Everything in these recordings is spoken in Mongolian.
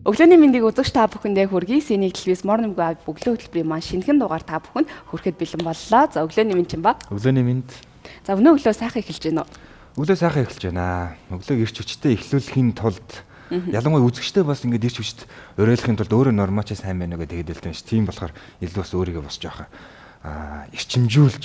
Өглөөний мэндийг үзэгч та бүхэндээ хүргэе. Синий телевиз Morning Wave өглөө хөтөлбөрийн маань шинэхэн дугаар та бүхэнд хүрэхэд бэлэн боллоо. За өглөөний мэнд чинь ба. Өглөөний мэнд. За өнөө өглөө сайхан эхэлж байна уу? Өглөө сайхан эхэлж байна. Өглөөг ирч хүчтэй эхлүүлэхийн тулд ялангуяа үзэгчтэй бас ингэж ирч хүчт уриалахын тулд өөрөө нормаач сайн байна гэдэг хэлдэг ш. Тийм болохоор илүү бас өөрийгөө бас жоох эрчимжүүлж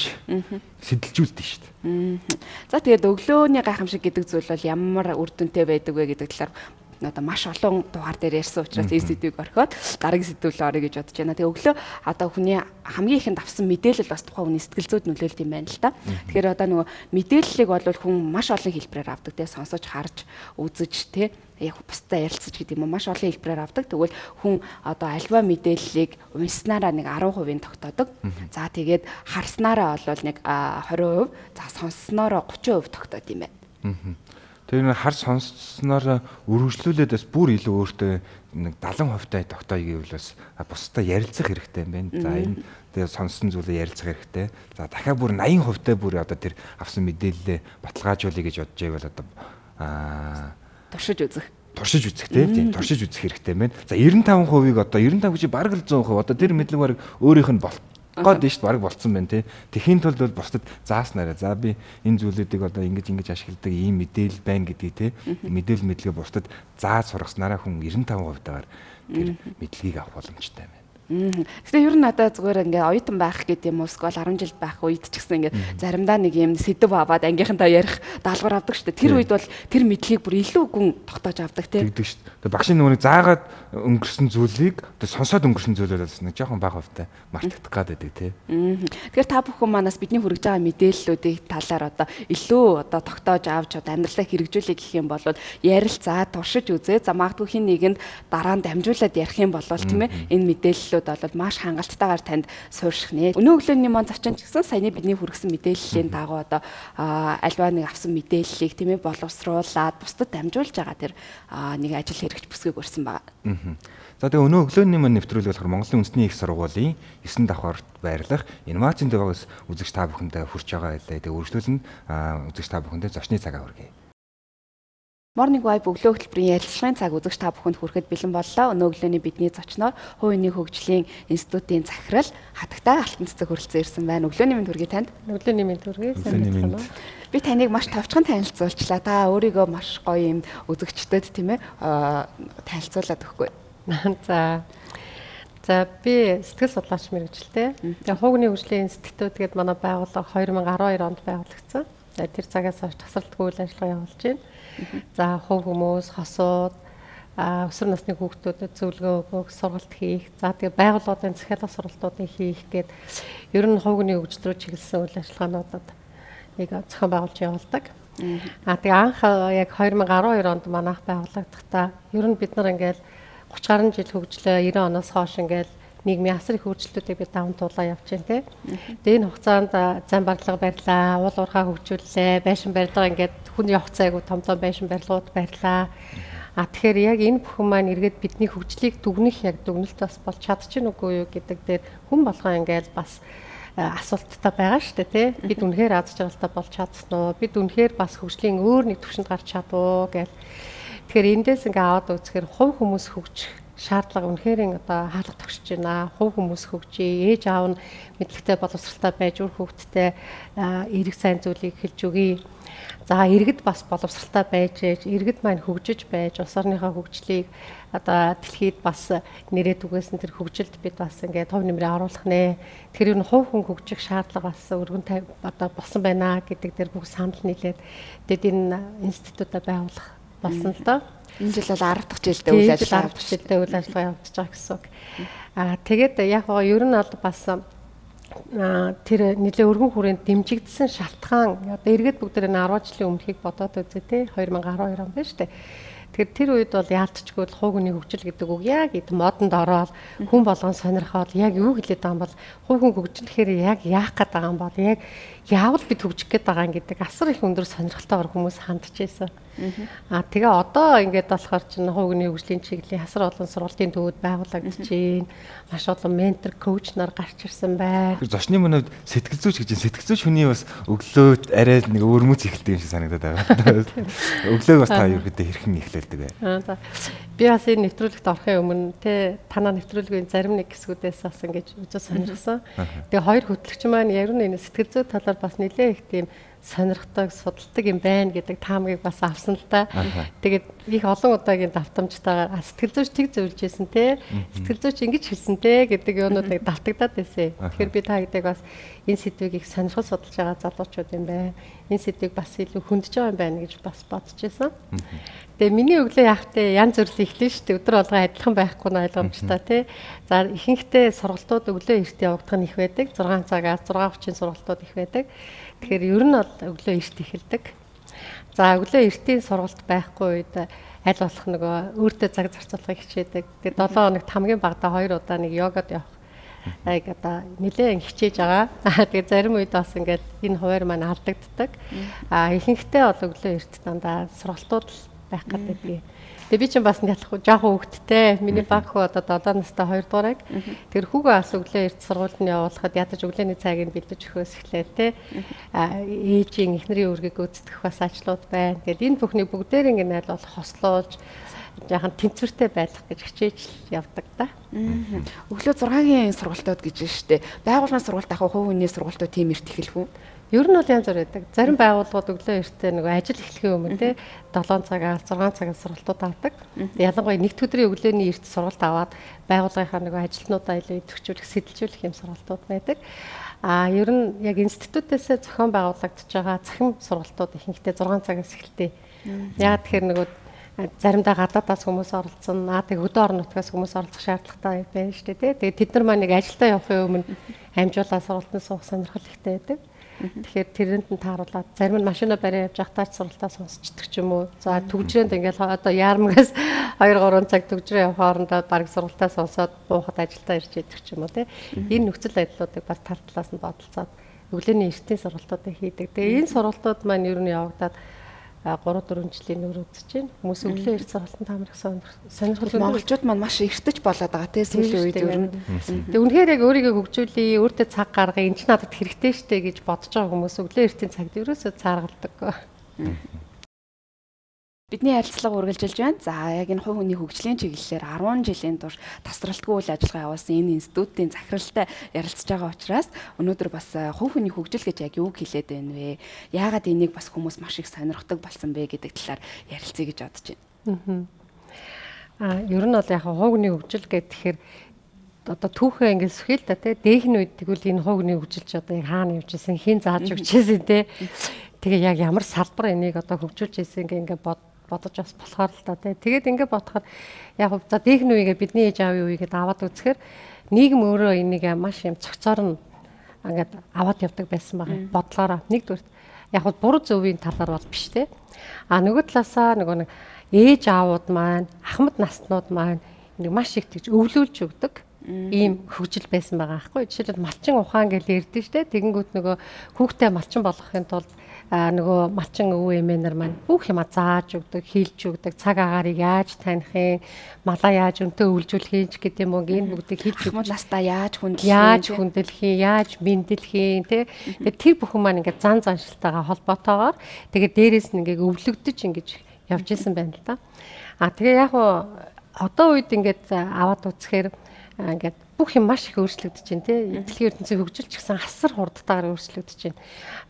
сэтэлжүүлдэг шүү дээ. За тэгээд өглөөний гайхамшиг гэдэг зүйл бол ямар үр дүнтэй байдаг вэ гэдэг талаар одоо маш олон дугаар дээр ярьсан учраас энэ сэдвийг орхиод дараагийн сэдвүүл орё гэж бодож байна. Тэгээ өглөө одоо хүний хамгийн ихэнд авсан мэдээлэл бас тухайн хүний сэтгэл зүйд нөлөөлд юм байна л да. Тэгэхээр одоо нөгөө мэдээллийг бол хүн маш олон хэлбэрээр авдаг те сонсож харж үзэж те яг бусдаа ярилцаж гэдэг юм маш олон хэлбэрээр авдаг. Тэгвэл хүн одоо альва мэдээллийг унснараа нэг 10% тогтоодог. За тэгээд харснараа бол нэг 20%, за сонсснороо 30% тогтоод юм байна. Тэр нэг хар сонссноор үргэлжлүүлээд бас бүр илүү өөртөө нэг 70% тогтооё гэвэл бас бусдаа ярилцах хэрэгтэй юм байна. За энэ тэгээ сонссон зүйлээ ярилцах хэрэгтэй. За дахиад бүр 80% бүр одоо тэр авсан мэдээлэлээ баталгаажуулъя гэж бодож байвал одоо туршиж үзэх тийм туршиж үзэх хэрэгтэй байна. За 95%-ийг одоо 95 гэж бараг л 100% одоо тэр мэдлэг бараг өөрийнх нь гоод нь шүү дээ бараг болцсон байна тий. Тэхийн тулд бол бусдад зааснараа за би энэ зүйлүүдийг одоо ингэж ашигладаг ийм мэдээлэл байна гэдгийг тий. Мэдээлэл мэдлэгээ бусдад зааж сургаснараа хүн 95% таагаар тэр мэдлэгийг авах боломжтой байна. Гэхдээ ер нь надад зүгээр ингээ оюутан байх гэдэг юм уу эсвэл 10 жил байх үед ч гэсэн ингээ заримдаа нэг юм сэдв аваад ангийнхантаа ярих даалгавар авдаг шүү дээ. Тэр үед бол тэр мэдлэгийг бүр илүү гүн тогтоож авдаг тийм. Тэгдэг шүү дээ. Багшийн нөгөөний заагаад өнгөрсөн зүйлийг сонсоод өнгөрсөн зүйлээ бас нэг жоохон бага хувьтай мартагдах гад байдаг тийм. Тэгэхээр та бүхэн манаас бидний хүргэж байгаа мэдээллүүдийг талаар одоо илүү одоо тогтоож авч одоо амьдралаа хэрэгжүүлэх гэх юм бол ярилцаа туршиж үзээ. За магадгүй хин нэгэнд дараа нь дамжуулаад ярих юм бол тийм ээ энэ мэдээлэл бол маш хангалттайгаар танд суурших нэ. Өнөө өглөөний маань зочин ч гэсэн саяны бидний хүргэсэн мэдээллийн дагуу одоо альва нэг авсан мэдээллийг тийм ээ боловсруулад бусдад дамжуулж байгаа тэр нэг ажил хэрэгч бүсгийг өрсөн байгаа. За тэгээ өнөө өглөөний маань нэвтрүүлэг болохоор Монголын үндэсний их сургуулийн 9 давхарт байрлах инновацийн дэвгээс үзэгч та бүхэндээ хүрч байгаа байлаа. Тэгээ үргэлжлүүлэн үзэгч та бүхэндээ зочны цагаа хүргэе. Morning Wave өглөө хөтөлбөрийн ярилцлагын цаг үзэгч та бүхэнд хүрэхэд бэлэн боллоо. Өнөө өглөөний бидний зочноор Хувийн хөгжлийн институтын захирал Хатагтай Алтан цэцэг хүрэлцэн ирсэн байна. Өглөөний мэнд хүргэе танд. Өглөөний мэнд хүргэе. Сайн байна уу? Би таныг маш товчхон танилцуулчлаа. Та өөрийгөө маш гоё юм үзэгчдэд тийм ээ танилцуулаад өгөхгүй. За би сэтгэл судлаач мэргэжилтэй. Тэгээ Хувийн хөгжлийн институт гэдэг манай байгууллага 2012 онд байгуулагдсан. За тэр цагаас хойш тасралтгүй үйл ажиллагаа явуулж байна. За хувь хүмүүс, хосууд, өсвөр насны хүүхдүүдэд зөвлөгөө өгөх, сургалт хийх, за тэгээ байгууллагын захиалга сургалтуудыг хийх гээд ер нь хувийн хөгжил рүү чиглэсэн үйл ажиллагаануудад нэг зохион байгуулж явуулдаг. Тэгээ анх яг 2012 онд манайх байгууллагдахдаа ер нь бид нар ингээл 30 гаруй жил хөгжлөө 90 оноос хойш ингээл нийгмийн асар их хөгжлүүдийг бид даван туулаа явж байна тий. Тэгээ энэ хугацаанд зам барилга барьлаа, уул уурхай хөгжүүллээ, байшин барилга ингээд хүн явах цайгүй том байшин барилгууд барьлаа. Тэгэхээр яг энэ бүхэн маань эргээд бидний хөгжлийг дүгнэх яг дүгнэлт бас болж чадчих нүггүй юу гэдэг дээр хүн болгоо ингээд бас асуулттай байгаа шүү дээ тий. Бид үнэхээр аз жаргалтай болж чадсан уу? Бид үнэхээр бас хөгжлийн өөр нэг түвшинд гарч чадвуу гэл. Тэгэхээр эндээс ингээд аваад үзэхээр хувь хүмүүс хөгжих шаардлага үнэхээр одоо хаалга тогтсож байна. Хувь хүмүүс хөгжиж, ээж аав нь мэдлэгтэй боловсралтай байж үр хүүхдтэй эрэг сайн зүйлийг хэлж өгье. За иргэд бас боловсралтай байж, иргэд маань хөгжиж байж, улс орныхоо хөгжлийг одоо дэлхийд бас нэрээд үгээсэн тэр хөгжилд бид бас ингээд төв нэмрээ оруулах нэ. Тэгэхээр энэ хувь хүн хөгжих шаардлага бас өргөн одоо болсон байна гэдэг дээр бүх санал нийлээд тэгээд энэ институтаа байгуулах болсон л доо. Энэ жил бол 10 дахь жилдээ үйл ажиллагаа явагдаж байгаа гэсэн үг. Тэгээд яг гоо ер нь бол бас тэр нэлээ өргөн хүрээнд дэмжигдсэн шалтгаан одоо эргээд бүгд энэ 10 жилийн өмнөхийг бодоод үзье те 2012 он байна шүү дээ. Тэгэхээр тэр үед бол яалтчгүй хувийн хөгжил гэдэг үг яг эд модонд ороод хүн болгон сонирхоод яг юу хэлээд байгаа юм бол хувийн хөгжлөхээр яг яах гээд байгаа юм бол яг яавал бид хөгжих гээд байгаа юм гэдэг асар их өндөр сонирхолтойгоор хүмүүс хандж байсан. Тэгээ одоо ингээд болохоор чинь хуугийн хөгжлийн чиглэлийн хасар олон сургалтын төвүүд байгуулагдаж байна. Маш олон ментор, коуч нар гарч ирсэн байна. Зочны мөнөд сэтгэл зүйч гэж сэтгэл зүйч хүний бас өглөөд арай нэг өөрмөц эхэлдэг юм шиг санагдаад байгаа. Өглөөг бас та ерөөдөө хэрхэн эхлүүлдэг вэ? За. Би бас энэ нэвтрүүлэгт орохын өмнө танаа нэвтрүүлгийн зарим нэг хэсгүүдээс бас ингэж үзэж сонирхсан. Тэгээ хоёр хөтлөгч маань яг нь энэ сэтгэл зүй талаар бас нэлээ их тийм сонирхдаг, судалдаг юм байна гэдэг таамгийг бас авсан л та. Тэгээд их олон удаагийн давтамжтайгаар сэтгэл зүйч тэг зөвлөж ийсэн те. Сэтгэл зүйч ингэж хэлсэн те гэдэг юмнуудыг давтагдаад байсан. Тэгэхээр би та гэдэг бас энэ сэдвийг их сонирхол судалж байгаа залуучууд юм байна. Энэ сэдвийг бас илүү хөндөж байгаа юм байна гэж бас бодож байсан. Тэгээ миний өглөө яахтай янз бүрийн эхлэн шүү дээ. Өдөр болгоо адилхан байхгүй нь ойлгомжтой тий. За ихэнхдээ сургалтууд өглөө эрт явагдах нь их байдаг. 6 цагаас 6:30 сургалтууд их байдаг. Тэгэхээр ер нь бол өглөө эрт эхэлдэг. За өглөө эртийн сургалт байхгүй үед аль болох нөгөө өөртөө цаг зарцуулахыг хичээдэг. Тэгээ 7 хоногт хамгийн багадаа 2 удаа нэг йогад явах. Одоо нэлээд хичээж байгаа. Тэгээ зарим үед бас ингээд энэ хуваар маань алдагддаг. Ихэнхдээ бол өглөө эрт дандаа сургалтууд байх гэдэг. Тэгээ би чинь бас ялахгүй жоохон хөвгттэй. Миний баг хөө одоо 7 настай 2 дуурайг. Тэр хүүгээ бас өглөө эрт сургуульд нь явуулахад ядаж өглөөний цагийг бэлдэж өгөхөөс эхлэв те. Ээжийн эхнэрийн үүргийг гүйцэтгэх бас ажлууд байна. Тэгээд энэ бүхний бүгдээр ингэ найл бол хослуулж яахан тэнцвэртэй байх гэж хичээж явдаг да. Өглөө 6-гийн сургалтууд гэж байна шүү дээ. Байгууллагын сургалт авах хувь хүний сургалтууд тийм эрт эхэлв үү? Ер нь бол янз бүр байдаг. Зарим байгууллагууд өглөө эртээ нөгөө ажил эхлэхийн өмнө те 7 цагаас 6 цагаас сургалтууд авдаг. Ялангуяа нэгд өдрийн өглөөний эрт сургалт аваад байгууллагынхаа нөгөө ажилтнуудаа илүү идэвхжүүлэх, сэтэлжүүлэх юм сургалтууд байдаг. Ер нь яг институтээсээ зохион байгуулагдж байгаа цахим сургалтууд ихэнхдээ 6 цагаас эхэлдэг. Яг тэгэхээр нөгөө заримдаа гадаадаас хүмүүс оролцсон. Тэгээ хөдөө орон нутгаас хүмүүс оролцох шаардлагатай байна шүү дээ. Тэгээ тэд нар маань нэг ажилдаа явахын өмнө амжуулаа сургалтанд суух сонирхол ихтэй байдаг. Тэгэхээр тэрэнд нь тааруулаад зарим нь машина бариа явж байхдаа ч сургалтаа сонсчдаг ч юм уу. За төгжрээнд ингээл одоо яармгаас 2-3 цаг төгжрээ явах хоорондоо баг сургалтаа сонсоод буухад ажилдаа ирж идэх ч юм уу тий. Энэ нөхцөл байдлуудыг бас тал талаас нь бодолцоод өглөөний эртний сургалтуудыг хийдэг. Тэгээ энэ сургалтууд маань ер нь явагдаад 3-4 жилийн нөр үзэж байна. Хүмүүс өглөө эрт сургалтанд хамрах сонирхол монголчууд маань маш эртэж болоод байгаа тий сүүлийн үед ер нь. Тэгээ үнэхээр яг өөрийгөө хөгжүүлээ, өөртөө цаг гаргая, энэ ч надад хэрэгтэй штэ гэж бодож байгаа хүмүүс өглөө эртийн цагт ерөөсөө цааргалдаг. Бидний ярилцлага үргэлжилж байна. За яг энэ хувь хүний хөгжлийн чиглэлээр 10 жилийн турш тасралтгүй үйл ажиллагаа явуулсан энэ институтын захиралтай ярилцж байгаа учраас өнөөдөр бас хувь хүний хөгжил гэж яг юуг хэлээд байна вэ? Яагаад энийг бас хүмүүс маш их сонирхдаг болсон бэ гэдэг талаар ярилцъя гэж бодож байна. Ер нь бол яг хувь хүний хөгжил гэхээр одоо түүхээ ингээд сүхэл та тий дээхний үед тэгвэл энэ хувь хүний хөгжилч одоо яг хаана явж исэн, хэн зааж өгч исэн тий. Тэгээ яг ямар салбар энийг одоо хөгжүүлж исэн ингээд бодож бас болохоор л та тий. Тэгээд ингээд бодоход яг за дээхний үегээ бидний ээж аавын үегээд аваад үзэхээр нийгэм өөрөө энийг маш юм цогцоор нь ингээд аваад явдаг байсан байгаа. Бодлоороо нэгдүгээр яг буруу зөвийн талаар бол биш тий. Нөгөө талаасаа нөгөө нэг ээж аавууд маань, ахмад наснууд маань нэг маш их тэгж өвлүүлж өгдөг ийм хөгжил байсан байгаа аахгүй. Жишээлбэл малчин ухаан гэж ярьдэн штэ. Тэгэнгүүт нөгөө хүүхдээ малчин болгохын тулд нөгөө малчин өвөө эмээнэр маань бүх юма зааж өгдөг, хийлж өгдөг, цаг агаарыг яаж таних, малаа яаж өнтөө үйлжүүлэх гэдэг юм уу, энэ бүгдийг хийж өгдөг. Настаа яаж хүндэлэх, яаж мэндэлэх тий. Тэгээ тэр бүхэн маань ингээд зан заншилтайгаа холбоотойгоор тэгээ дээрээс нь ингээд өвлөгдөж ингэж явж исэн байна л да. Тэгээ яг одоо үед ингээд аваад үзэхээр ингээд бүх юм маш их өөрчлөгдөж байна тий. Дэлхийн ертөнцийн хөгжилч гэсэн асар хурдтайгаар өөрчлөгдөж байна.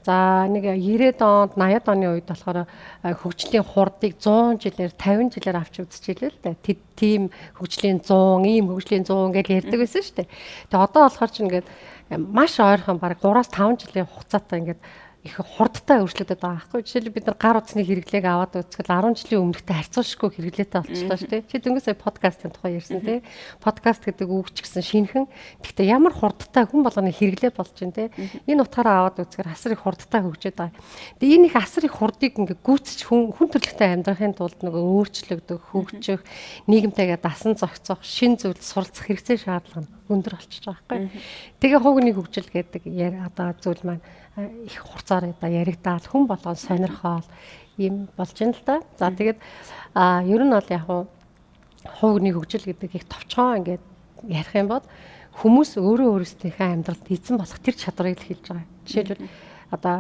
За нэг 90-ад онд 80-ад оны үед болохоор хөгжлийн хурдыг 100 жилээр 50 жилээр авч үзчихлээ л да. Тийм хөгжлийн 100, ийм хөгжлийн 100 гэж ярьдаг байсан шүү дээ. Тэгээ одоо болохоор ч ингээд маш ойрхон баг 3-5 жилийн хугацаатай ингээд их хурдтай өөрчлөгдөд байгаа байхгүй. Жишээлбэл бид нар гар утасны хэрэглээг аваад үзэхэд 10 жилийн өмнөхтэй харьцуулшгүй хэрэглээтэй болчихлоо шүү дээ. Чи дөнгөж сая подкастын тухай ярьсан тий. Подкаст гэдэг үг ч гэсэн шинхэн. Гэхдээ ямар хурдтай хүн болгоны хэрэглээ болж байна тий. Энэ утгаараа аваад үзэхээр асар их хурдтай хөгжөөд байгаа. Тэгээ энэ их асар их хурдыг ингээ гүйцэж хүн төрөлхтөй амьдрахын тулд нөгөө өөрчлөгдөх, хөгжих, нийгэмтэйгээ дасан зохицох, шин зүйл суралцах хэрэгцээ шаардлага нь өндөр болчихж байгаа байхгүй. Тэгээ хуугны хөгжил гэдэг одоо зүйл маань их хурцаар одоо яригдаад хүн болгон сонирхол юм болж байна л да. За тэгээд ер нь бол яг хуугны хөгжил гэдэг их товчхон ингээд ярих юм бол хүмүүс өөрөө өөрсдийнхээ амьдралд эзэн болох тэр чадрыг л хэлж байгаа. Жишээлбэл одоо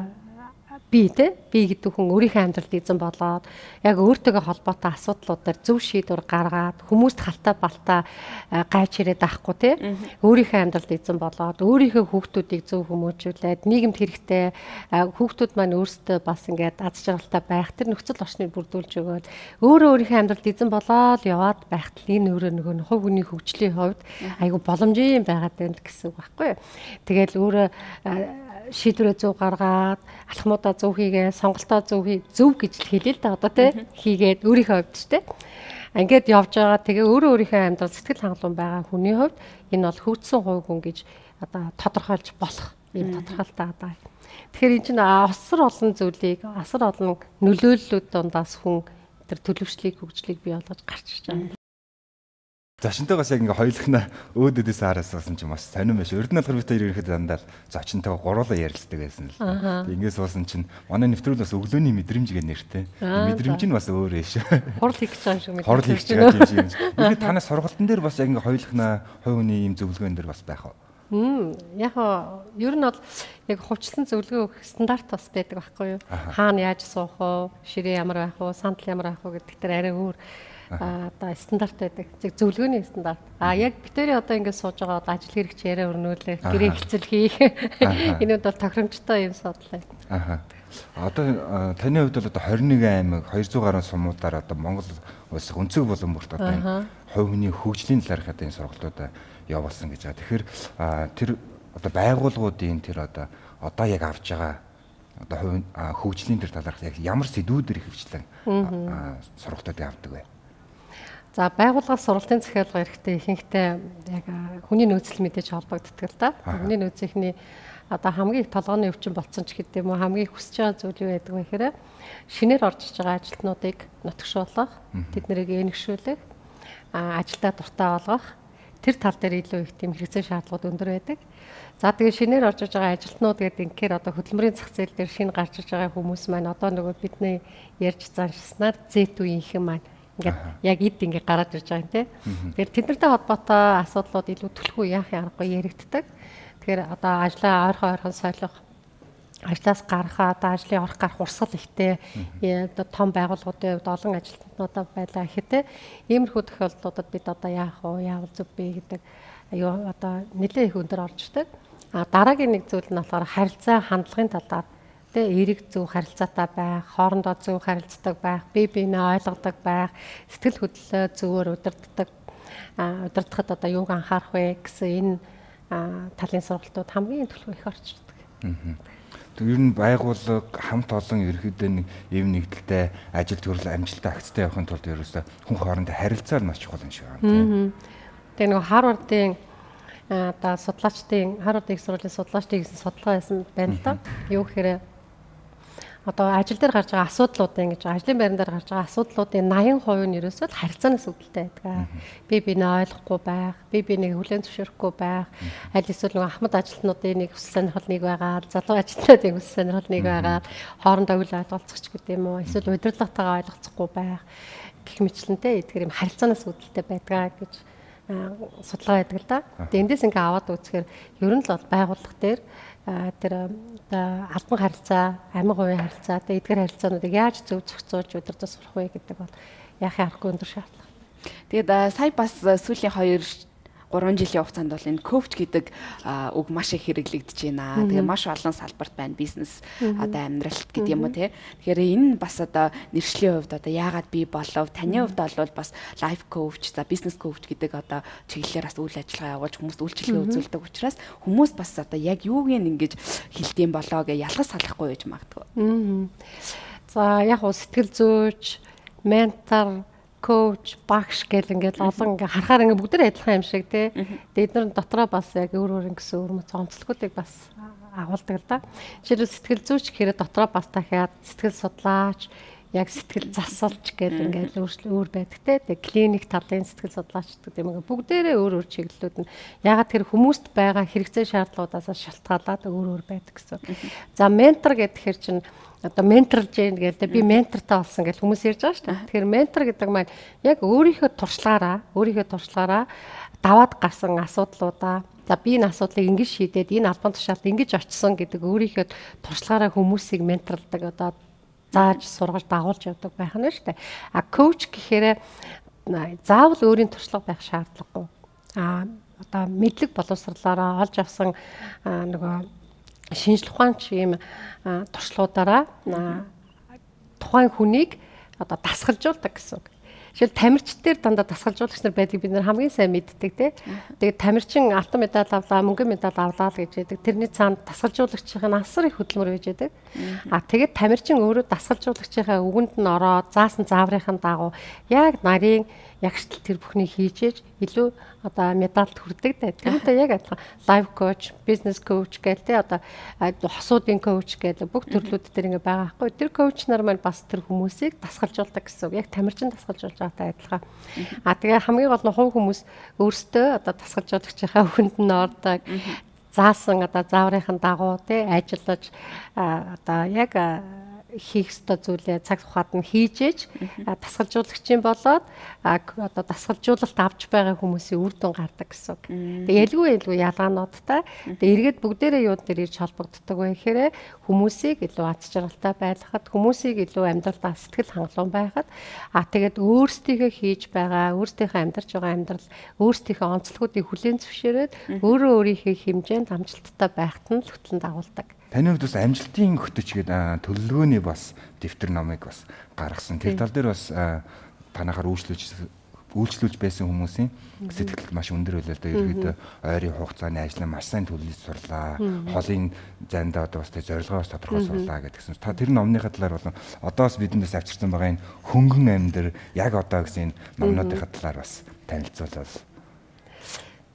би гэдэг хүн өөрийнхөө амьдралд эзэн болоод яг өөртөөгөө холбоотой асуудлуудаар зөв шийдвэр гаргаад хүмүүст халтаа балтаа гайж ирээд авахгүй тий өөрийнхөө амьдралд эзэн болоод өөрийнхөө хүүхдүүдийг зөв хүмүүжүүлээд нийгэмд хэрэгтэй хүүхдүүд маань өөрсдөө бас ингээд аз жаргалтай байх тэр нөхцөл орчныг бүрдүүлж өгөөд өөрийнхөө амьдралд эзэн болоод яваад байхад энэ өөрөө нөгөө хувь хүний хөгжлийн хувьд айгу боломжийн байгаад байна гэсэн үг байхгүй. Тэгэл өөрөө шийдвэрээ зөв гаргаад алхмуудаа зөв хийгээ, сонголтоо зөв гэж л хэлээ л да одоо тий хийгээд өөрийнхөө хувьд ч тий ингээд явж байгаа. Тэгээ өөрийнхөө амьдрал сэтгэл хангалуун байгаа хүний хувьд энэ бол хөгжсөн хувь хүн гэж одоо тодорхойлж болох юм тодорхойлтаа одоо. Тэгэхээр энэ чинь асар олон зүйлийг асар олон нөлөөллүүд дундаас хүн тэр төлөвшлийг хөгжлийг бий болгож гарч ирж байгаа. Зочинтойгоос яг ингээ хоёулахна өөдөөдөөс хараасан ч маш сонирм биш. Ердөө болохоор бид хоёр ирэхэд дандаа зочинтойгоо гуруулаа ярилцдаг байсан л. Ингээс уусан чинь манай нэвтрүүл бас өглөөний мэдрэмж гэх нэртэй. Мэдрэмж нь бас өөр ээ шүү. Хурл хийх гэж байгаа юм шиг. Хурл хийх гэж байгаа юм шиг. Ихэд танаас сургалтын дээр бас яг ингээ хоёулахна хувь хүний ийм зөвлөгөөн дээр бас байх уу? Яг ер нь бол яг хувьчлан зөвлөгөө өгөх стандарт бас байдаг байхгүй юу? Хаана яаж суух вэ? Ширээ ямар байх вэ? Сандал ямар байх вэ гэдэг тэр арай өөр одоо стандарт байдаг. Зөв зөвлөгөөний стандарт. Яг битэрий одоо ингэ сууж байгаа одоо ажил хэрэгч яриа өрнүүлэх, гэрээ хэлцэл хийх. Энүүд бол тохиромжтой юм судлаа. Одоо таны хувьд бол одоо 21 аймаг 200 гаруй сумуудаар одоо Монгол улс өнцөг болон бүрт одоо энэ хувь хүний хөгжлийн талаарх одоо энэ сургалтуудаа явуулсан гэж байгаа. Тэгэхээр тэр одоо байгууллагуудын тэр одоо яг авж байгаа одоо хөгжлийн тэр талаарх яг ямар сэдвүүдээр хөвчлэн сургалтуудыг авдаг вэ? За байгууллагаас сургалтын захиалга эрэхтэй ихэнхдээ яг хүний нөөцөл мэдээж холбогддог л да. Хүний нөөцийнхний одоо хамгийн их толгойн өвчин болцсон ч гэдэг юм уу хамгийн их хүсэж байгаа зүйл юу байдаг вэ гэхээр шинээр орж иж байгаа ажилтнуудыг нутагшуулах, тэднийг энэгшүүлэх, ажилдаа дуртай болгох тэр тал дээр илүү их тийм хэрэгцээ шаардлагууд өндөр байдаг. За тэгээ шинээр орж иж байгаа ажилтнууд гэдэг инхээр одоо хөдөлмөрийн зах зээл дээр шинэ гарч иж байгаа хүмүүс маань одоо нөгөө бидний ярьж заншснаар зэт үеийнхэн маань ингээд яг эд ингээд гараад ирж байгаа юм тий. Тэгэхээр тэднэртэй холбоотой асуудлууд илүү түлхүү яахын аргагүй яригддаг. Тэгэхээр одоо ажлаа ойрхон солих, ажлаас гарахаа одоо ажлын орох гарах урсгал ихтэй одоо том байгууллагуудын хувьд олон ажилтнуудаа байлаа гэхэд иймэрхүү тохиолдлуудад бид одоо яах вэ, яавал зөв бэ гэдэг аюу одоо нэлээд их өндөр орж ирдэг. Дараагийн нэг зүйл нь болохоор харилцаа хандлагын талаар эерэг зөв харилцаатай байх, хоорондоо зөв харилцдаг байх, бие биенээ ойлгодог байх, сэтгэл хөдлөлөө зөвөр удирдахад одоо юуг анхаарах вэ гэсэн энэ талын сургалтууд хамгийн түлхүү их орж ирдэг. Ер нь байгууллага хамт олон ерөөдөө нэг ийм нэгдэлтэй ажил төрөл амжилттай агцтай явахын тулд ерөөсөө хүн хоорондоо харилцаа маш чухал юм шиг байна. Тэгээ нөгөө Харвардын одоо судлаачдын Харвард их сургуулийн судлаачдын гэсэн судалгаа байсан байна л да. Юу гэхээр одоо ажил дээр гарч байгаа асуудлуудын гэж ажлын байран дээр гарч байгаа асуудлуудын 80% нь ерөөсөө харилцаанаас үүдэлтэй байдаг. Би биенээ ойлгохгүй байх, би биенийг хүлээн зөвшөөрөхгүй байх, аль эсвэл нөгөө ахмад ажилтнуудын нэг хүсэл сонирхол нэг байгаа, залуу ажилтнуудын хүсэл сонирхол нэг байгаа, хоорондоо үл ойлголцох гэдэг юм уу, эсвэл удирдлагатайгаа ойлголцохгүй байх гэх мэтлэнтэй эдгээр юм харилцаанаас үүдэлтэй байдаг гэж судалгаа байдаг л да. Тэгээ эндээс ингээ аваад үзэхээр ер нь л бол байгууллага дээр тэр албан харилцаа, амин хувийн харилцаа, эдгээр харилцаануудыг яаж зөв зохицуулж удирдах сурах вэ гэдэг бол яахын аргагүй өндөр шаардлага. Тэгээд сая бас сүүлийн 2-3 жилийн хугацаанд бол энэ коуч гэдэг үг маш их хэрэглэгдэж байна. Тэгээ маш олон салбарт байна. Бизнес одоо амьдралт гэдэг юм уу те. Тэгэхээр энэ бас одоо нэршлийн хувьд одоо яагаад бий болов? Таны хувьд бол бас лайф коуч, за бизнес коуч гэдэг одоо чиглэлээр бас үйл ажиллагаа явуулж хүмүүст үйлчилгээ үзүүлдэг учраас хүмүүс бас одоо яг юуг ингэж хэлдэм болоо гэж ялгаж салахгүй байж магадгүй. За яг уу сэтгэл зүйч, ментор, коуч, багш гэл ингээд олон ингээ харахаар ингээ бүгд адилхан юм шиг тий. Тэгээд эдгээр дотроо бас яг өөр гэсэн өөр мэт онцлогуудыг бас агуулдаг л да. Жишээлбэл сэтгэл зүйч гэхээр дотроо бас дахиад сэтгэл судлаач, яг сэтгэл засалч гэдэг ингээд өөр байдаг те. Тэгээ клиник талын сэтгэл судлаач гэдэг юм. Бүгдээрээ өөр чиглэлүүд нь ягаад тэр хүмүүст байгаа хэрэгцээ шаардлагуудаас шалтгаалаад өөр байдаг гэсэн. За ментор гэхээр чинь одоо менторлж яах гэдэг би ментортай болсон гэж хүмүүс ярьж байгаа шүү дээ. Тэгэхээр ментор гэдэг маань яг өөрийнхөө туршлагаараа даваад гарсан асуудлуудаа за би энэ асуудлыг ингэж шийдээд энэ албан тушаалд ингэж очсон гэдэг өөрийнхөө туршлагаараа хүмүүсийг менторлдог одоо зааж сургаж дагуулж явдаг байх нь шүү дээ. А коуч гэхээр заавал өөрийн туршлага байх шаардлагагүй. Одоо мэдлэг боловсрлаараа олж авсан нөгөө шинжлэх ухаанч ийм туршлагуудаараа тухайн хүнийг одоо дасгалжуулдаг гэсэн үг. Жишээл тамирчдэр дандаа дасгалжуулагч нар байдгийг бид нар хамгийн сайн мэддэг тий. Тэгээд тамирчин алтан медаль авлаа, мөнгөн медаль авлаа л гэж яддаг. Тэрний цаанд дасгалжуулагчийн асар их хөдөлмөр байж яддаг. Тэгээд тамирчин өөрөө дасгалжуулагчийнхаа үгэнд нь ороод заасан зааврынхаа дагуу яг нарийн ягштал тэр бүхнийг хийжээж илүү одоо медальд хүрдэг дээ. Тэрнтэй яг адилхан лайф коуч, бизнес коуч гэдэг те одоо хосуудын коуч гэдэг бүх төрлүүд дээр ингээ байгаа байхгүй. Тэр коуч нар маань бас тэр хүмүүсийг дасгалжуулдаг гэсэн. Яг тамирчин дасгалжуулж байгаатай адилхан. Тэгээ хамгийн гол нь хувь хүмүүс өөрсдөө одоо дасгалжуулагчийнхаа үгэнд нь ордог. Заасан одоо зааврынхаа дагуу те ажиллаж одоо яг хийх ёстой зүйлээ цаг тухайд нь хийжээж дасгалжуулагчийн болоод одоо дасгалжуулалт авч байгаа хүмүүсийн үр дүн гардаг гэсэн үг. Тэгээ ялгүй ялгаануудтай. Тэгээ эргээд бүгдээрээ юуд дээр ирж холбогддог вэ гэхээр хүмүүсийг илүү аз жаргалтай байлгахад, хүмүүсийг илүү амьдралдаа сэтгэл хангалуун байхад тэгээд өөрсдийнхөө хийж байгаа, өөрсдийнхөө амьдарч байгаа амьдрал, өөрсдийнхөө онцлогуудыг хүлээн зөвшөөрөөд өөрөө өөрийнхөө хэмжээнд амжилттай байхад нь хөтлөн дагуулдаг. Таны хувьд бас амжилтын хөтөч гэдэг төлөвлөгөөний бас дэвтэр номыг бас гаргасан. Тэр тал дээр бас танахаар үйлчлүүлж байсан хүмүүсийн сэтгэл маш өндөр байлаа да. Ерөөдөө ойрын хугацааны ажлаа маш сайн төлөвлөж сурлаа. Холын зайдаа одоо бас зорилгоо бас тодорхой сурлаа гэдгсэн. Та тэр номныхаа талаар болон одоо бас бидэндээс авчирсан байгаа энэ хөнгөн амьдар яг одоо гэсэн номнуудынхаа талаар бас танилцуулбал.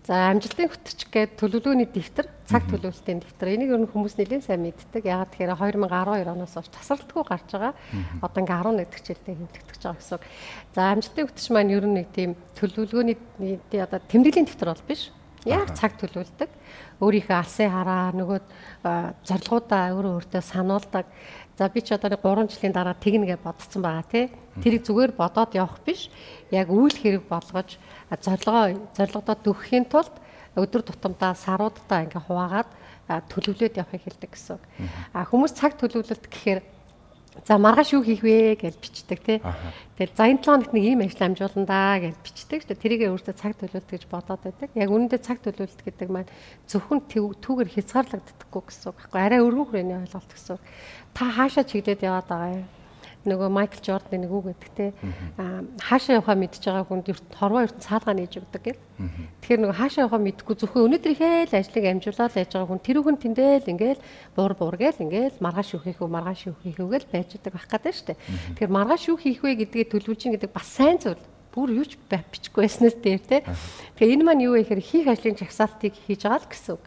За амжилтын хөтөч гэдэг төлөвлөгөөний дэвтэр, цаг төлөвлөлтийн дэвтэр. Энийг ер нь хүмүүс нэлээд сайн мэддэг. Ягаад тэгэхээр 2012 оноос хойш тасралтгүй гарч байгаа. Одоо ингээ 11 дэх жилдээ хэвлэгдэж байгаа гэсэн. За амжилтын хөтөч маань ер нь нэг тийм төлөвлөгөөний одоо тэмдэглэлийн дэвтэр бол биш. Яг цаг төлөвлөдөг. Өөрийнхөө алсын хараа, нөгөө зорилгоудаа өөртөө сануулдаг. За би ч одоо 3 жилийн дараа тэгнэ гэж бодсон байгаа тий. Тэрийг зүгээр бодоод явах биш. Яг үйл хэрэг болгож зорилгодоо дөхөхийн тулд өдөр тутамдаа саруудаа ингээ хуваагаад төлөвлөд явахыг хэлдэг гэсэн. Хүмүүс цаг төлөвлөлт гэхээр за маргааш юу хийх вэ гэж бичдэг тий. Тэгэл за энэ 7 хоногт нэг ийм ажил амжуулна да гэж бичдэг шүү дээ. Тэрийгээ өөртөө цаг төлөвлөлт гэж бодоод байдаг. Яг үүндээ цаг төлөвлөлт гэдэг маань зөвхөн түүгээр хязгаарлагддаггүй гэсэн үг байхгүй. Арай өргөн хүрээний ойлголт гэсэн. Та хаашаа чиглээд яваад байгаа юм? Нөгөө Майкл Жорданы нэг үг гэдэг те хаашаа явахаа мэдж байгаа хүнд хорвоо ертөнд цаалгаа нээж өгдөг гэл. Тэгэхээр нөгөө хаашаа явахаа мэдгүй зөвхөн өнөөдрийнхээ л ажлыг амжуулаад яаж байгаа хүн тэр хүн тэндэл ингээл буур гээл ингээл маргааш юу хийх вэ гэл байж байгаа байх гэдэг шүү дээ. Тэгэхээр маргааш юу хийх вэ гэдгийг төлөвлөж ин гэдэг бас сайн зүйл. Бүр юу ч бичихгүй байснаас дээр те. Тэгэхээр энэ маань юу вэ гэхээр хийх ажлын жагсаалтыг хийж байгаа л гэсэн үг.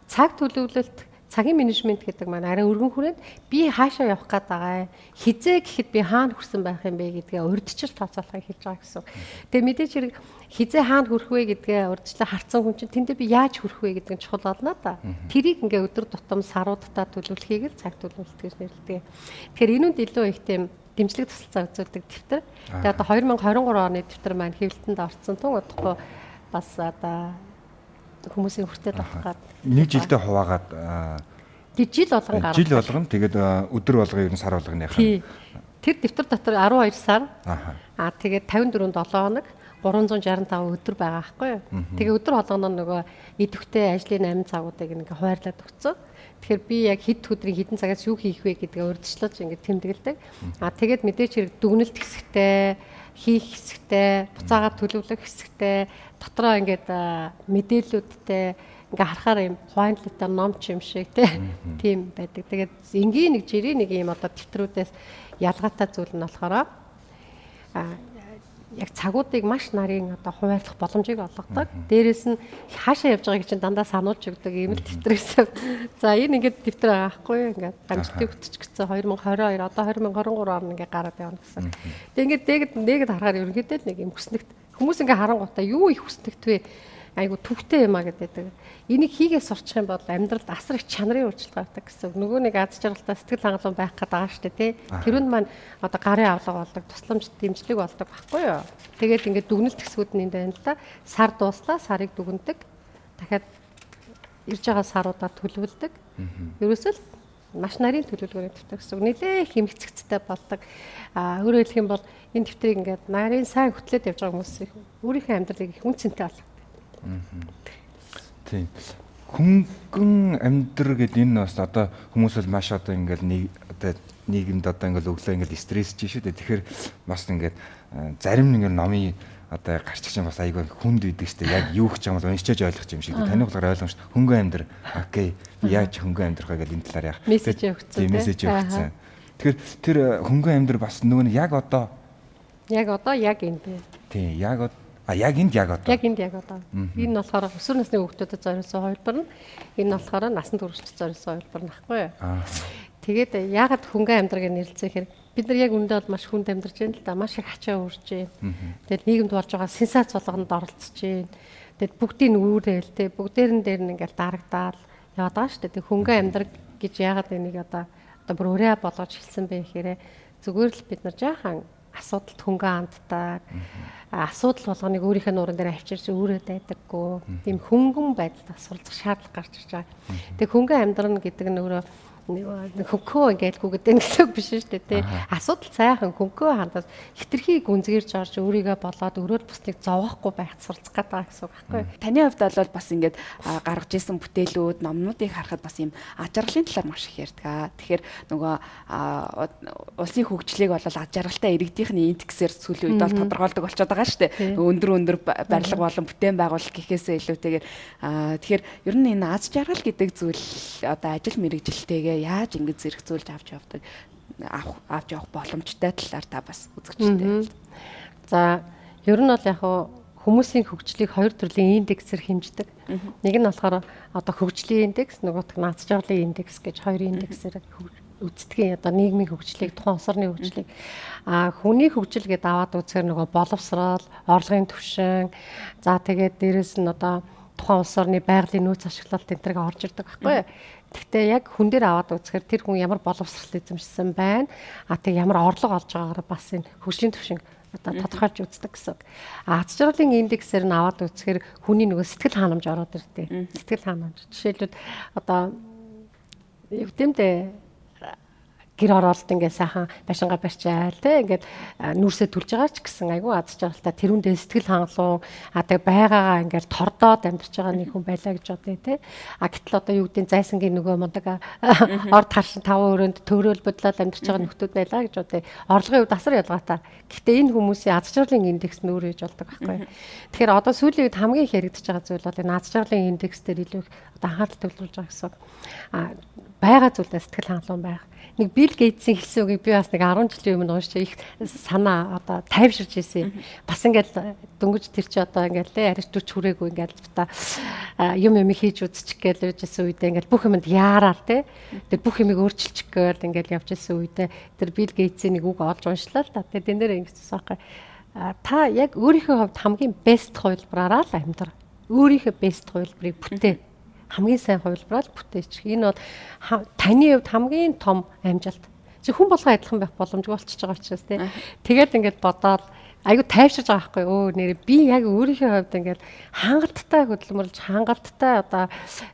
Цаг төлөвлөлт цагийн менежмент гэдэг маань арай өргөн хүрээд би хаашаа явах гээд байгаа хизээ гэхэд би хаана хүрсэн байх юм бэ гэдгээ урьдчилан тооцоолохыг хэлж байгаа гэсэн. Тэгээ мэдээж хэрэг хизээ хаана хүрэх вэ гэдгээ урьдчилан харцсан хүн чинь тэндээ би яаж хүрэх вэ гэдэг нь чухал болно да. Тэрийг ингээ өдөр тутам саруудаа төлөвлөхийг л цаг төлөвлөлт гэж нэрлэдэг. Тэгэхээр энүүнд илүү их тийм дэмжлэг тусалцаа үзүүлдэг дэвтэр. Тэгээ одоо 2023 оны дэвтэр маань хэвлэлтэнд орсон тун удахгүй бас одоо хүмүүсийн хүртээд авах гад нэг жилдээ хуваагаад жил болгон гаргав. Жил болгон тэгээд өдөр болгон ер нь сар болгоныхаа. Тэр дэвтэр дотор 12 сар. Тэгээд 54 7 хоног 365 өдөр байгаа байхгүй юу? Тэгээ өдөр болгоно нөгөө идэвхтэй ажлын 8 цагуудыг ингээ хуваарлаад өгцөө. Тэгэхээр би яг хэд өдрийн хэдэн цагаас юу хийх вэ гэдгээ урьдчилж ингээ тэмдэглэдэг. Тэгээд мэдээч хэрэг дүгнэлт хэсэгтэй, хийх хэсэгтэй, буцаагаар төлөвлөх хэсэгтэй, дотроо ингээд мэдээлүүдтэй ингээ харахаар юм хойнлолтой ном ч юм шиг тийм байдаг. Тэгээд энгийн нэг жирийн нэг юм одоо дэвтрүүдээс ялгаатай зүйл нь болохоор яг цагуудыг маш нарийн одоо хуваарлах боломжийг олгодог. Дээрээс нь хаашаа явж байгааг чинь дандаа сануулж өгдөг ийм л дэвтрээс. За энэ ингээд дэвтэр байгаа байхгүй юу? Ингээд амжилтыг хөтөч гэсэн 2022 одоо 2023 он ингээд гараад явна гэсэн. Тэгээ ингээд нэгэд харахаар ерөнхийдөө нэг юм хүснэгт хүмүүс ингээд харангуйтаа юу их хүснэгт вэ? Айгу төвхтэй юм а гэдэг. Энийг хийгээс сурчих юм бол амьдралд асар их чанарын өөрчлөлт гардаг гэсэн. Нөгөө нэг аз жаргалтай сэтгэл хангалуун байх гэдэг байгаа шүү дээ, тий. Тэрүүнд маань одоо гарын авлага болдог, тусламж дэмжлэг болдог байхгүй юу? Тэгээд ингээд дүгнэлт хэсгүүд нь энэ байна л да. Сар дууслаа, сарыг дүгнэдэг. Дахиад ирж байгаа саруудаар төлөвлөдөг. Ерөөсөө л маш нарийн төлөвлөгөөний дэвтэр гэсэн. Нэлээ их хэмжигцтэй болдог. Өөрөөр хэлэх юм бол энэ дэвтрийг ингээд нарийн сайн хөтлөөд явж байгаа хүмүүс өөрийнхөө амьдралыг их үнцэнтэй болгодог. Тийм. Хөнгөн амьдрал гэдэг энэ бас одоо хүмүүс бол маш одоо ингээл нийгэмд одоо ингээл өглөө ингээл стрессж шүү дээ. Тэгэхээр бас ингээд зарим нэг номын одоо гарч чинь бас айгүй хүнд үйдэг шүү дээ. Яг юу гэж байгаа юм уншиж ойлгох юм шиг. Таны болохоор ойлгомжтой. Хөнгөн амьдрал. Окей. Яаж хөнгөн амьдрах вэ гэдэг энэ талаар яах. Мессеж явуулсан. Тийм мессеж явуулсан. Тэгэхээр тэр хөнгөн амьдрал бас нөгөө нь яг одоо яг энэ бэ. Тийм. Яг энд одоо. Энэ болохоор өсвөр насны хүүхдүүдэд зориулсан хувилбар нь. Энэ болохоор насан туршид зориулсан хувилбар нөхгүй юу. Тэгээд яагаад хөнгөн амьдралыг нэрлэхээр бид нар яг үндэ бол маш хүнд амьдарч байна л да. Маш их ачаа үрж байна. Тэгээд нийгэмд болж байгаа сенсац болгонд оролцож байна. Тэгээд бүгдийн үүрэл те бүгдээрэн дээр нь ингээл дарагдаад яваад байгаа шүү дээ. Тэг хөнгөн амьдрал гэж яагаад энийг одоо бүр өрөө болгож хэлсэн бэ гэхээр зүгээр л бид нар жаахан асуудалд хөнгөн анддаг. Асуудал болгоныг өөрийнхөө нуурын дээр авчирч өөрөө дайдаггүй. Тийм хөнгөн байдалд суралцах шаардлага гарч ирж байгаа. Тэг хөнгөн амьдрал гэдэг нь өөрөө хөнгөө ингээл гэдэг гэсэн үг биш шүү дээ тий. Асуудал сайхан хөнгөө хандаад хитрхийг гүнзгийрж орж өөрийгөө болоод өрөөл бусныг зовоохгүй байхад суралцах гэдэг гэсэн үг байхгүй юу? Таны хувьд бол бас ингээд гаргаж исэн бүтээлүүд, номнуудыг харахад бас юм аж аргалын талаар маш их ярьдаг. Тэгэхээр нөгөө улсын хөгжлийг бол аж аргалтай иргэдийнхний индексээр сүүлийн үед бол тодорхойлдог болчиход байгаа шүү дээ. Өндөр барилга болон бүтээн байгуулалт гэхээсээ илүүтэйгээр тэгэхээр ер нь энэ аж аргал гэдэг зүйл одоо ажил мэргэжилтэйгээ яаж ингэж зэрэгцүүлж авч явах боломжтой талаар та бас үзэгчтэй. За ер нь бол яг хүмүүсийн хөгжлийг хоёр төрлийн индексээр хэмждэг. Нэг нь болохоор одоо хөгжлийн индекс, нөгөөх нь аз жаргалын индекс гэж хоёр индексээр үздэгэн одоо нийгмийн хөгжлийг, тухайн улс орны хөгжлийг хүний хөгжил гэдээ аваад үзэхээр нөгөө боловсрол, орлогын түвшин, за тэгээд дээрэс нь одоо тухайн улс орны байгалийн нөөц ашиглалт энэ төрөг орж ирдэг байхгүй юу? Гэхдээ яг хүн дээр аваад үзэхээр тэр хүн ямар боловсрол эзэмшсэн байна. Тэг ямар орлого олж байгаагаар бас энэ хөгжлийн түвшин одоо тодорхойлж үздэг гэсэн. Аз жаргалын индексээр нь аваад үзэхээр хүний нөгөө сэтгэл ханамж ороод ирдэг. Сэтгэл ханамж. Жишээлбэл одоо юу гэмдэ гэр оролт ингээд сайхан башингаа барьчаал те ингээд нүрсээ түлж байгаа ч гэсэн айгүй аз жаргалтай тэрүүндээ сэтгэл хангалуун тэг байгаагаа ингээд тордоод амьдарч байгаа нэг хүн байлаа гэж бодъё те гэтэл одоо юу гэдэг зайсангийн нөгөө мундаг орд харшин 5 өрөөнд төөрөөл бодлоод амьдарч байгаа нөхдүүд байлаа гэж бодъё орлогын хувьд асар ялгаатай гэхдээ энэ хүмүүсийн аз жаргалын индекс нь өөр ээж болдог байхгүй тэгэхээр одоо сүүлийн үед хамгийн их яригдчихэж байгаа зүйл бол энэ аз жаргалын индекс дээр илүү их одоо анхаарал төвлөрүүлж байгаа гэсэн байгаа зүйлээ сэтгэл хангалуун байх. Нэг Билл Гейтсийн хэлсэн үгийг би бас нэг 10 жилийн өмнө уншиж их санаа одоо тайвширж ирсэн. Бас ингээл дөнгөж тэр чи одоо ингээл арич 40 хүрээгүй ингээл та юм хийж үзчих гээл байжсэн үедээ ингээл бүх юмд яараар те. Тэр бүх юмыг өөрчилчих гээл ингээл явж ирсэн үедээ тэр Билл Гейтсийн нэг үг олж уншлаа л та. Тэгээд энэ дээр ингэсэн байхгүй. Та яг өөрийнхөө хувьд хамгийн бест хувилбараараа л амьдрал. Өөрийнхөө бест хувилбарыг бүтээ. Хамгийн сайн хувилбараар бүтээчих. Энэ бол таны хувьд хамгийн том амжилт. Чи хүн болгоо адилхан байх боломжгүй болчихж байгаа учраас тий. Тэгээд ингээд бодоод айгу тайвширж байгаа байхгүй өө нэр би яг өөрийнхөө хувьд ингээд хангалттай хөдөлмөрлж хангалттай одоо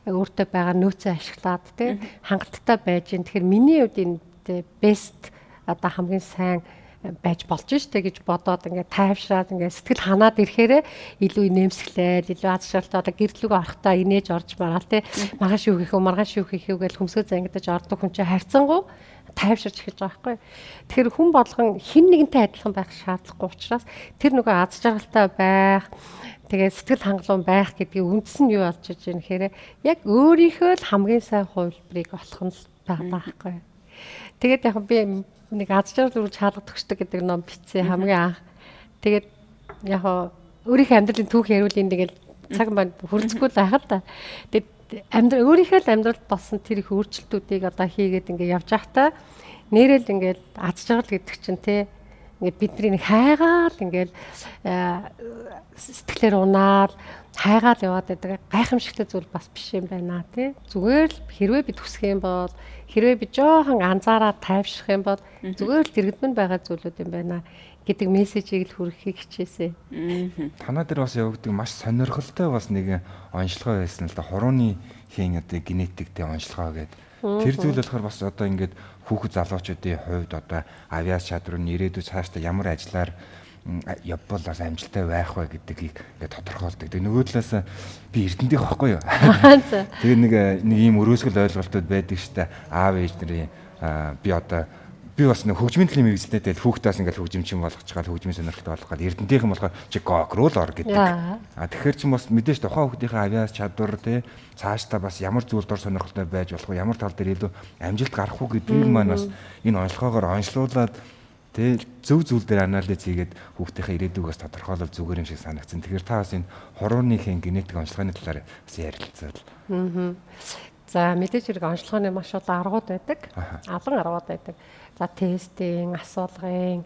өөртөө байгаа нөөцөө ашиглаад тий хангалттай байж гин. Тэгэхээр миний хувьд энэ бест одоо хамгийн сайн байж болж штэ гэж бодоод ингээд тайвшраад ингээд сэтгэл ханаад ирэхээр илүү нэмсгэлээд илүү аз жаргалтай одоо гэрлүүг орохтаа инээж орж магаал те маргааш юу хийх вэ маргааш юу хийх вэ гэж хөмсгөө зангидаж ордог хүн чинь хайрцангуй тайвширч эхэлж байгаа байхгүй. Тэгэхээр хүн болгон хэн нэгэнтэй адилхан байх шаардлагагүй учраас тэр нөгөө аз жаргалтай байх тэгээд сэтгэл хангалуун байх гэдгийг үндс нь юу болж иж юм гэхээр яг өөрийнхөө л хамгийн сайн хувилбарыг олох нь байгаа байхгүй. Тэгээд яг би нэг аз жаргал үрж хаалга төгсдөг гэдэг ном бичсэн хамгийн анх. Тэгээд яг өөрийнхөө амьдралын түүх яриулын тэгэл цаг маань хүрцгүй л байхад та. Тэгээд өөрийнхөө амьдралд болсон тэр их өөрчлөлтүүдийг одоо хийгээд ингээ явж байхдаа нэрэл ингээл аз жаргал гэдэг чинь те ингээд бидний нэг хайгаал ингээл сэтгэлээр унаад хайгаал яваад байдаг гайхамшигтай зүйл бас биш юм байна тий. Зүгээр л хэрвээ би төсөх юм бол хэрвээ би жоохон анзаараад тайвшрах юм бол зүгээр л дэрэгдмэн байгаа зүйлүүд юм байна гэдэг мессежийг л хүргэхийг хичээсэ. Танаа дээр бас явагддаг маш сонирхолтой бас нэг онцлогоо байсан л да. Хурууны хийн одоо генетиктэй онцлогоо гэдэг. Тэр зүйл болохоор бас одоо ингээд хүүхэд залуучуудын хувьд одоо авиас чадвар нь ирээдүйд цаашдаа ямар ажиллаар явбал бас амжилттай байх вэ гэдгийг ингээд тодорхойлдог. Тэгээ нөгөө талаас би эрдэнтийн байхгүй юу. Тэгээ нэг ийм өрөөсгөл ойлголтууд байдаг штэ. Аав ээж нарын би одоо би бас нэг хөгжмийн төлөв мэрэгчлээ тэгэл хүүхдээс ингээд хөгжимчин болгож чагаад хөгжмийн сонирхолтой болгоод эрдэнтийнхэн болохоор чи гокрол ор гэдэг. Тэгэхээр чи бас мэдээж тухайн хүүхдийнхээ авиас чадвар те цаашдаа бас ямар зүйл дор сонирхолтой байж болох вэ ямар тал дээр илүү амжилт гарах уу гэдгийг маань бас энэ онцлогоогоор онцлуулад те зөв зүйл дээр анализ хийгээд хүүхдийнхээ ирээдүгээс тодорхойлол зүгээр юм шиг санагдсан. Тэгэхээр та бас энэ хурууныхын генетик онцлогооны талаар бас ярилцаад. За мэдээж хэрэг онцлогооны маш олон аргууд байдаг. Алан аргууд байдаг. За тестийн, асуулгын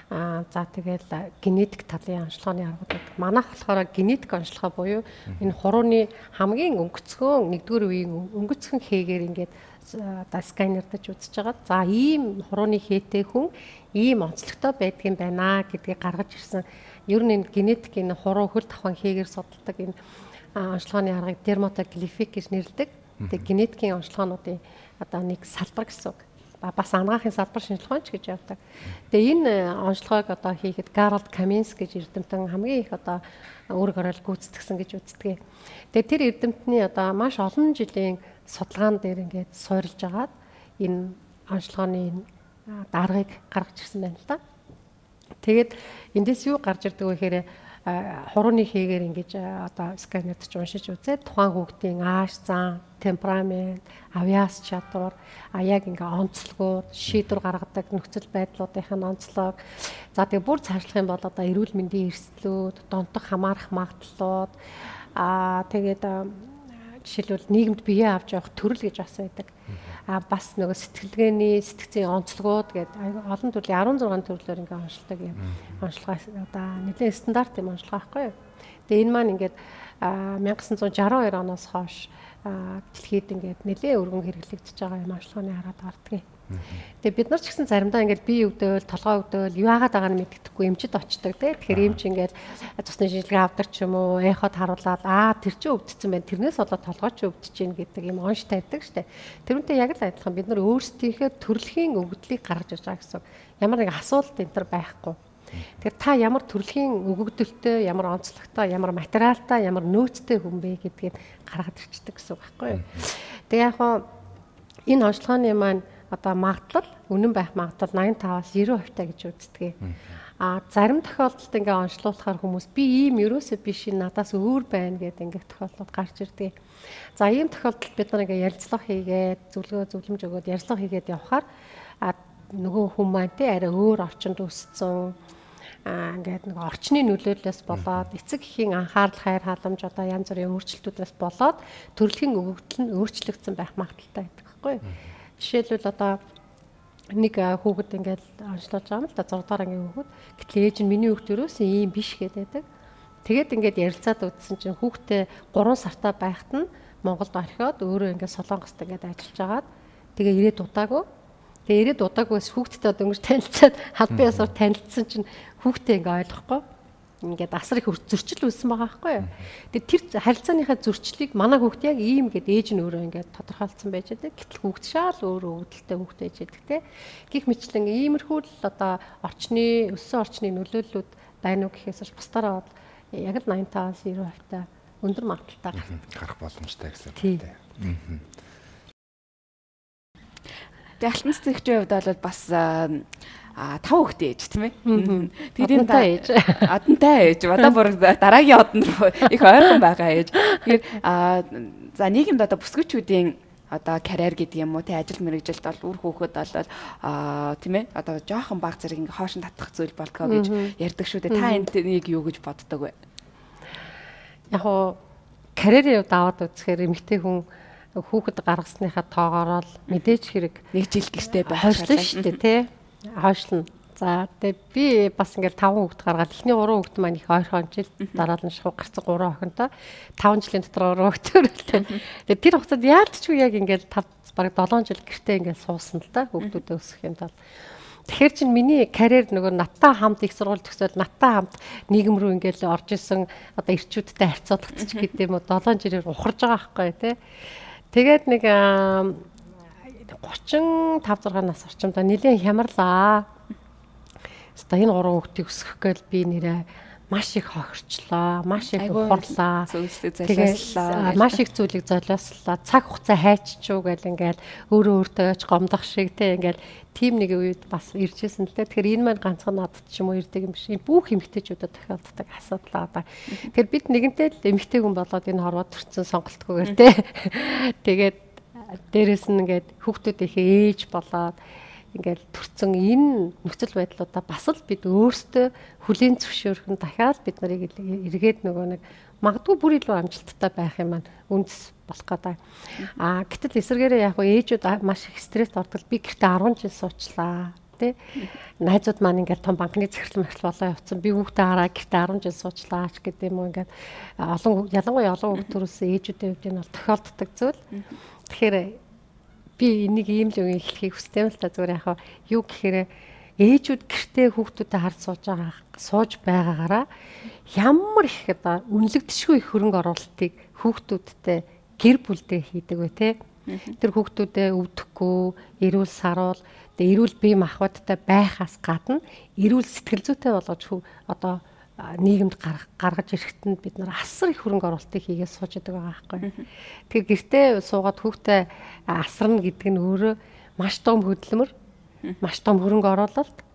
за тэгэл генетик талын онцлогооны аргууд байдаг. Манайх болохоор генетик онцлогоо буюу энэ хурууны хамгийн өнгөцгөн нэгдүгээр үеийн өнгөцгөн хэгээр ингээд сканердаж үзэж байгаа. За ийм хурууны хээтэй хүн ийм онцлогтой байдгийн байна гэдгийг гаргаж ирсэн. Ер нь энэ генетикийн хуруу хөл тавхан хэгээр судалдаг энэ онцлогооны аргыг дерматоглифик гэж нэрлэдэг. Тэгээ генетикийн онцлогоонуудын одоо нэг салбар гэсэн үг. Бас анагаахын салбар шинжилгээч гэж явдаг. Тэгээ энэ онцлогоог одоо хийхэд Гарольд Каминс гэж эрдэмтэн хамгийн их одоо үүрэг оройл гүйцэтгэсэн гэж үздэг. Тэгээ тэр эрдэмтний одоо маш олон жилийн судалгаан дээр ингээд суурилж агаад энэ онцлогооны даргаыг гаргаж ирсэн байна л да. Тэгээд эндээс юу гарч ирдэг вэ гэхээр хурууны хэгээр ингэж одоо сканерд ч уншиж үзээд тухайн хүүхдийн ааш зан, темперамент, авиас чадвар, яг ингээ онцлогууд, шийдвэр гаргадаг нөхцөл байдлуудын онцлог. За тэгээ бүр цаашлах юм бол одоо эрүүл мэндийн эрсдлүүд, донтох хамаарах магадлалууд, тэгээд жишээлбэл нийгэмд бие авч явах төрөл гэж бас байдаг. Бас нөгөө сэтгэлгээний сэтгцийн онцлогууд гэдэг олон төрлийн 16 төрлөөр ингээ онцлдог юм. Онцлогоо одоо нэлээд стандарт юм онцлогоо байхгүй юу. Тэгээ энэ маань ингээд 1962 оноос хойш дэлхийд ингээд нэлээд өргөн хэрэглэгдэж байгаа юм онцлогооны хараад гардгийг. Тэгээ бид нар ч гэсэн заримдаа ингээд бие өвдөөл, толгой өвдөөл, юу яагаад байгааг нь мэддэхгүй эмчд очдог те. Тэгэхээр эмч ингээд цусны шинжилгээ авдаг ч юм уу, эход харуулаад тэр чинь өвдсөн байна. Тэрнээс болоод толгой ч өвдөж гин гэдэг юм онш тавьдаг штэ. Тэрүүнтэй яг л адилхан бид нар өөрсдийнхээ төрөлхийн өгөгдлийг гаргаж ирж байгаа гэсэн. Ямар нэг асуулт энэ төр байхгүй. Тэгэхээр та ямар төрөлхийн өгөгдөлтөй, ямар онцлогтой, ямар материалтай, ямар нөөцтэй хүн бэ гэдгийг гаргаж ирчдэг гэсэн үг байхгүй юу. Тэгээ яг энэ онцлогооны маань одоо магадлал үнэн байх магадлал 85-аас 90% таа гэж үздэг. Зарим тохиолдолд ингээ онцлуулахаар хүмүүс би ийм ерөөсөө биш надаас өөр байна гэдэг ингээ тохиолдлууд гарч ирдэг. За ийм тохиолдолд бид нар ингээ ярилцлага хийгээд зөвлөмж өгөөд ярилцлага хийгээд явхаар нөгөө хүн маань те арай өөр орчинд өссөн ингээд нэг орчны нөлөөллөөс болоод эцэг эхийн анхаарал хайр халамж одоо янз бүрийн өөрчлөлтүүдээс болоод төрөлхийн өгөгдөл нь өөрчлөгдсөн байх магадaltaй байдаг байхгүй юу? Жишээлбэл одоо нэг хүүхэд ингээд онцлуулж байгаа юм л да 6 дахь ангийн хүүхэд. Гэтэл ээж нь миний хүүхд ерөөсөө ийм биш гэдэг. Тэгээд ингээд ярилцаад үзсэн чинь хүүхдээ 3 сартаа байхад нь Монголд орхиод өөрөө ингээд Солонгост ингээд ажиллаж агаад тэгээ ирээд удаагүй. Тэгээ ирээд удаагүйс хүүхдтэй одоо ингэж танилцаад халбын ясаар танилцсан чинь хүүхдээ ингээд ойлгохгүй. Ингээд асар их зөрчил үүссэн байгаа байхгүй юу. Тэгээ тэр харилцааныхаа зөрчлийг манай хүүхд яг ийм гэд ээж нь өөрөө ингээд тодорхойлцсон байж байгаа. Гэтэл хүүхд шал өөрөө өвдөлттэй хүүхд ээж байдаг те. Гэх мэтлэн иймэрхүү л одоо өссөн орчны нөлөөллүүд байна уу гэхээс ч бусдаараа бол яг л 85-аас 90% та өндөр магадaltaй гарах боломжтой гэсэн үг тийм. Тэгээ алтан цэцэгчийн хувьд бол бас 5 хүүхдээ ээж тийм ээ. Тэгээд адантай ээж. Одоо бүр дараагийн одон руу их ойрхон байгаа ээж. Тэгэхээр за нийгэмд одоо бүсгүйчүүдийн одоо карьер гэдэг юм уу тий ажил мэргэжилд бол үр хүүхэд болол тийм ээ одоо жоохон баг зэрэг ингээ хоошин татах зүйл болдгоо гэж ярьдаг шүү дээ. Та энийг юу гэж боддог вэ? Яг хоо карьерийн хувьд аваад үзэхээр эмэгтэй хүн хүүхэд гаргасныхаа тоогоор л мэдээж хэрэг 1 жил гэртээ байх хойшлоо шүү дээ тий. Хойшлно. За тэгээ би бас ингээл 5 хүүхэд гаргаад эхний 3 хүүхэд маань их ойрхон жил дараа нь шахуу гарцсан 3 охинтой 5 жилийн дотор 3 хүүхэдтэй. Тэгээ тэр хугацаанд яалтчгүй яг ингээл 5 бараг 7 жил гэртээ ингээл суусан л да хүүхдүүдээ өсгөхийн тулд. Тэгэхээр чинь миний карьер нөгөө надтай хамт их сургууль төгсөөл надтай хамт нийгэм рүү ингээл орж исэн одоо ирчүүдтэй харьцуулагдчих гэдэг юм уу 7 жилээр ухарж байгаа байхгүй тий. Тэгээд нэг 35 6 нас орчимдоо нэлээд хямарлаа. Одоо энэ 3 хүүхдийг өсгөх гээл би нэрээ маш их хохирчлаа, маш их ухарлаа. Тэгээд маш их зүйлийг золиослоо. Цаг хугацаа хайччихв гэл ингээл өөрөө өөртөө гомдох шиг те ингээл тим нэг үед бас иржсэн л те. Тэгэхээр энэ маань ганцхан надад ч юм уу ирдэг юм биш. Энэ бүх эмэгтэйчүүдэд тохиолддог асуудал одоо. Тэгэхээр бид нэгэнтээ л эмэгтэй хүн болоод энэ хорвоод төрсэн сонголтгүйгээр те. Тэгээд дээрэс нь ингээд хүүхдүүдийнхээ ээж болоод ингээл төрцөн энэ нөхцөл байдлуудаа бас л бид өөрсдөө хүлийн зөвшөөрөх нь дахиад бид нарыг эргээд нөгөө нэг магадгүй бүр илүү амжилттай байх юм маань үндэс болох гэдэг. Гэтэл эсвэргээрээ яг ээжүүд маш их стресс ордог. Би гэртээ 10 жил суучлаа тий. Найзууд маань ингээд том банкны захирал болоо явцсан. Би хүүхдээ хараа гэртээ 10 жил суучлаа ч гэдэг юм уу ингээд ялангуяа олон хүүхд төрүүлсэн ээжүүдийн хувьд энэ бол тохиолддог зүйл. Тэгэхээр би энийг ийм л үгийг хэлхийг хүсдэм л та зүгээр яхаа юу гэхээр ээжүүд гэртээ хүүхдүүдэд харж сууж байгаагаараа ямар их одоо үнэлэгдэшгүй их хөрөнгө оруулалтыг хүүхдүүдтэй гэр бүлдээ хийдэг вэ те. Тэр хүүхдүүдэд өвдөхгүй, эрүүл саруул, эрүүл бие махбодтой байхаас гадна эрүүл сэтгэл зүйтэй болгож одоо нийгэмд гаргаж ирэхэд бид нар асар их хөрөнгө оруулалтыг хийгээд сууж байгаа байхгүй. Тэгэхээр гэртээ суугаад хүүхдээ асарна гэдэг нь өөрөө маш том хөдөлмөр, маш том хөрөнгө оруулалт.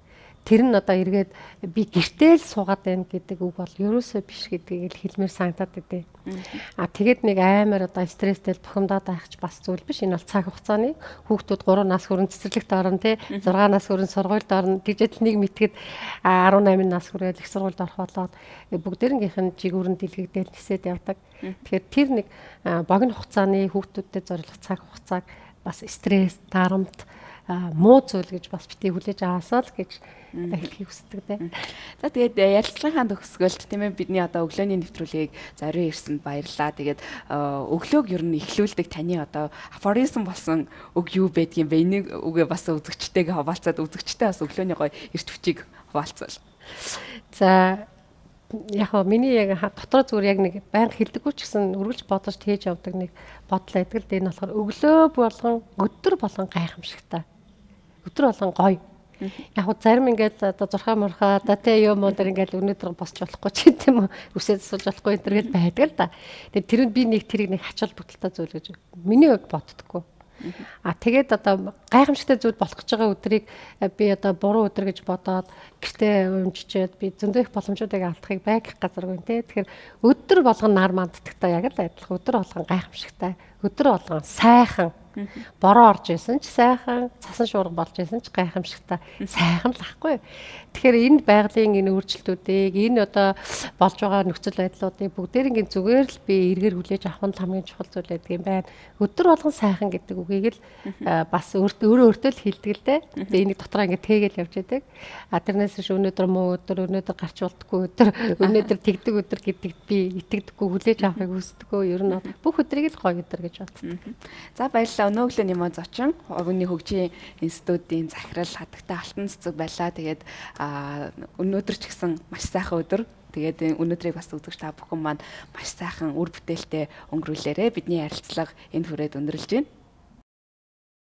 Тэр нь одоо эргээд би гэртээ л суугаад байна гэдэг үг бол ерөөсөө биш гэдгийг л хэлмээр санагдаад байдэ. Тэгээд нэг амар одоо стресстэй бухимдаад байх ч бас зүйл биш. Энэ бол цаг хугацааны хүүхдүүд 3 нас хүрэн цэцэрлэгт орно тий 6 нас хүрэн сургуульд орно. Тэгжэл нэг мэтгэд 18 нас хүрээд их сургуульд орох болоод бүгдээрнгийнх нь жигүүрэн дэлгэгдэл нисээд явдаг. Тэгэхээр тэр нэг богино хугацааны хүүхдүүдэд зориулах цаг хугацааг бас стресс, дарамт муу зүйл гэж бас битгий хүлээж аваасаа л гэж хэлхийг хүсдэг дээ. За тэгээд ярилцлагын төгсгөлд тийм ээ бидний одоо өглөөний нэвтрүүлгийг зориулж ирсэнд баярлалаа. Тэгээд өглөөг ер нь эхлүүлдэг таны одоо афоризм болсон үг юу байдгийг бэ? Энийг үгээ бас үзэгчтэйгээ хаваалцаад үзэгчтэй бас өглөөний гоё эрт хүчийг хаваалцвал. За яг хоо миний яг дотор зүгээр яг нэг байнга хэлдэггүй ч гэсэн үргэлж бодож тээж явдаг нэг бодол байдаг л дээ. Энэ болохоор өглөө болгон өдөр болгон гайхамшигтай. Өдөр болгон гоё. Яг хөө зарим ингээд одоо зурхаа мурхаа да тэ юм уу дэр ингээд өнөөдөр босч болохгүй ч гэдэм үү үсээд сууж болохгүй энэ төргээд байдаг л да. Тэгээд тэр нь би нэг тэрийг нэг хачаал бүтэлтэй зүйл гэж миний хувьд боддоггүй. Тэгээд одоо гайхамшигтай зүйл болох гэж байгаа өдрийг би одоо буруу өдөр гэж бодоод гэртээ өмжчээд би зөндөө их боломжуудыг алдахыг байгих газаргүй те. Тэгэхээр өдөр болгон нар манддагтай яг л адилхан өдөр болгон гайхамшигтай өдөр болгон сайхан бороо орж исэн ч сайхан цасан шуурга болж исэн ч гайхамшигтай сайхан л ахгүй. Тэгэхээр энэ байгалийн энэ өөрчлөлтүүдийг энэ одоо болж байгаа нөхцөл байдлуудыг бүгдээрийн зүгээр л би эргээр хүлээж авах нь хамгийн чухал зүйл байдаг юм байна. Өдөр болгон сайхан гэдэг үгийг л бас өөрөө өөртөө л хэлдэг л дээ. Би энийг дотроо ингэ тэгээл явж байдаг. Тэрнээс ш өнөөдөр муу өдөр, өнөөдөр гарч болтгүй өдөр, өнөөдөр тэгдэг өдөр гэдэгт би итгэдэггүй хүлээж авахыг хүсдэггүй. Ер нь бүх өдрийг л гоё өдөр гэж боддог. За баярлалаа. Өнөөглөө Нимон зочин Овны хөгжийн институтын захирал хатагтай алтан цэцэг байлаа. Тэгээд өнөөдөр ч гэсэн маш сайхан өдөр. Тэгээд өнөөдрийг бас үзэгч та бүхэн маань маш сайхан үр бүтээлтэй өнгөрүүлээрэ. Бидний ярилцлага энд хүрээд өндөрлж байна.